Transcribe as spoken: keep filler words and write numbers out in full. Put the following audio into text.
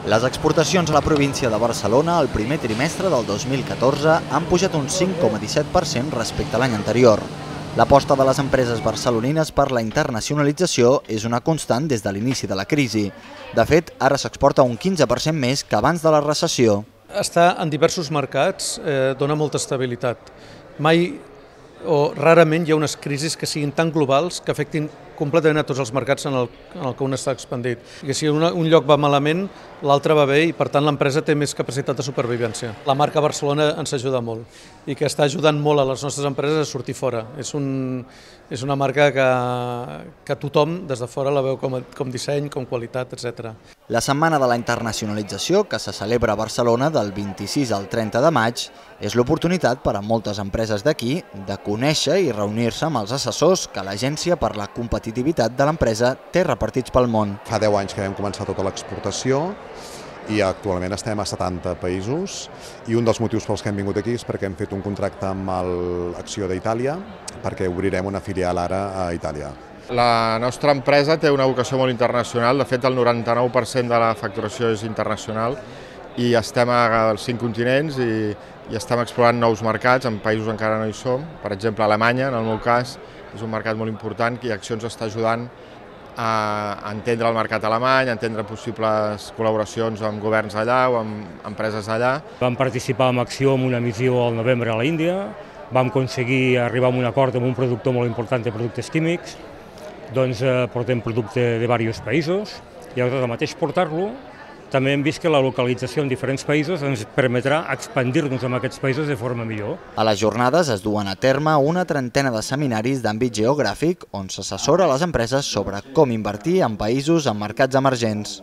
Les exportacions a la província de Barcelona el primer trimestre del dos mil catorze han pujat un cinc coma disset per cent respecte a l'any anterior. L'aposta de les empreses barcelonines per la internacionalització és una constant des de l'inici de la crisi. De fet, ara s'exporta un quinze per cent més que abans de la recessió. Estar en diversos mercats eh, dona molta estabilitat. Mai o rarament hi ha unes crisis que siguin tan globals que afectin completament a tots els mercats en el, en el que un està expandit. I que si una, un lloc va malament, l'altre va bé i per tant l'empresa té més capacitat de supervivència. La marca Barcelona ens ajuda molt i que està ajudant molt a les nostres empreses a sortir fora. És, un, és una marca que, que tothom des de fora la veu com, a, com disseny, com qualitat, etcètera. La Setmana de la Internacionalització, que se celebra a Barcelona del vint-i-sis al trenta de maig, és l'oportunitat per a moltes empreses d'aquí de conèixer i reunir-se amb els assessors que l'Agència per la Competitivitat de l'empresa té repartits pel món. Fa deu anys que vam començar tota l'exportació i actualment estem a setanta països i un dels motius pels que hem vingut aquí és perquè hem fet un contracte amb l'Acció d'Itàlia perquè obrirem una filial ara a Itàlia. La nostra empresa té una vocació molt internacional, de fet el noranta-nou per cent de la facturació és internacional i estem als cinc continents i, i estem explorant nous mercats, en països encara no hi som, per exemple Alemanya, en el meu cas, és un mercat molt important i Acció ens està ajudant a entendre el mercat alemany, a entendre possibles col·laboracions amb governs allà o amb empreses allà. Vam participar amb Acció en una missió al novembre a l'Índia, vam aconseguir arribar a un acord amb un productor molt important de productes químics, doncs eh, portem producte de diversos països i al mateix portar-lo també hem vist que la localització en diferents països ens permetrà expandir-nos en aquests països de forma millor. A les jornades es duen a terme una trentena de seminaris d'àmbit geogràfic on s'assessora a les empreses sobre com invertir en països en mercats emergents.